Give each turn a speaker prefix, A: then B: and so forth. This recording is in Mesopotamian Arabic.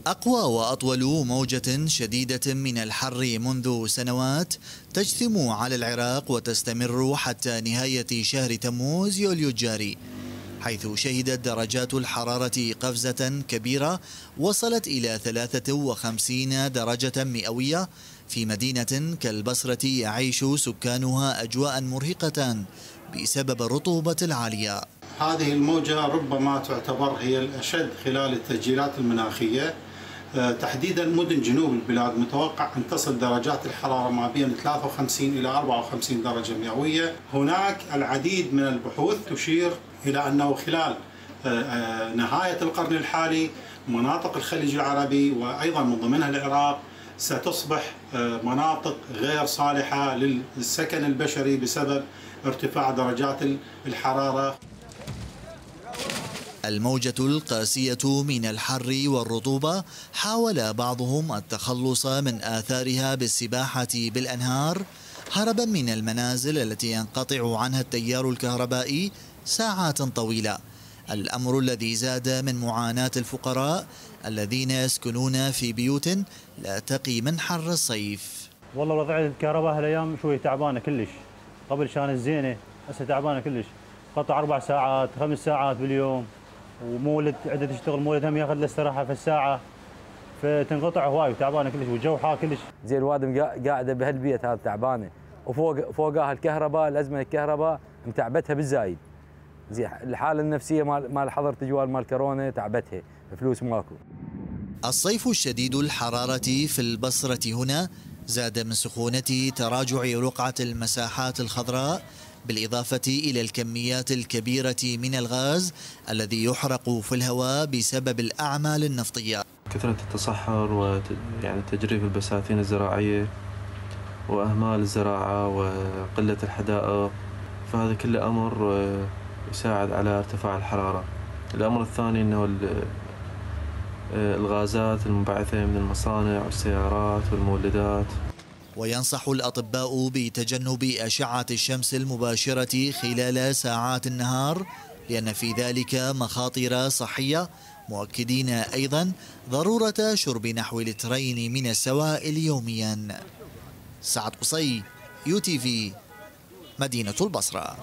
A: أقوى وأطول موجة شديدة من الحر منذ سنوات تجثم على العراق وتستمر حتى نهاية شهر تموز يوليو الجاري، حيث شهدت درجات الحرارة قفزة كبيرة وصلت إلى 53 درجة مئوية في مدينة كالبصرة يعيش سكانها أجواء مرهقة بسبب الرطوبة العالية.
B: هذه الموجة ربما تعتبر هي الأشد خلال التسجيلات المناخية، تحديدا مدن جنوب البلاد متوقع أن تصل درجات الحرارة ما بين 53 إلى 54 درجة مئوية. هناك العديد من البحوث تشير إلى أنه خلال نهاية القرن الحالي مناطق الخليج العربي وأيضا من ضمنها العراق ستصبح مناطق غير صالحة للسكن البشري بسبب ارتفاع درجات الحرارة.
A: الموجة القاسية من الحر والرطوبة حاول بعضهم التخلص من آثارها بالسباحة بالأنهار هربا من المنازل التي ينقطع عنها التيار الكهربائي ساعات طويلة، الأمر الذي زاد من معاناة الفقراء الذين يسكنون في بيوت لا تقي من حر الصيف.
C: والله وضع الكهرباء هالايام شوي تعبانه كلش، قبل كانت زينه هسه تعبانه كلش، قطع 4 ساعات 5 ساعات باليوم، ومولد عده تشتغل مولد هم ياخذ له استراحه في الساعه، فتنقطع هواي وتعبانه كلش والجو حار كلش.
D: زين الوادم قاعده بهالبيت هذا تعبانه، وفوقها الكهرباء، الازمه الكهرباء متعبتها بالزايد. زين الحاله النفسيه مال حظر تجوال مال كورونا تعبتها، فلوس ماكو.
A: الصيف الشديد الحرارة في البصرة هنا زاد من سخونة تراجع رقعة المساحات الخضراء، بالإضافة إلى الكميات الكبيرة من الغاز الذي يحرق في الهواء بسبب الأعمال النفطية.
E: كثرة التصحر ويعني تجريف البساتين الزراعية وأهمال الزراعة وقلة الحدائق، فهذا كله أمر يساعد على ارتفاع الحرارة. الأمر الثاني أنه الغازات المنبعثة من المصانع والسيارات والمولدات.
A: وينصح الأطباء بتجنب أشعة الشمس المباشرة خلال ساعات النهار لأن في ذلك مخاطر صحية، مؤكدين أيضا ضرورة شرب نحو 2 لتر من السوائل يوميا. سعد قصي، UTV، مدينة البصرة.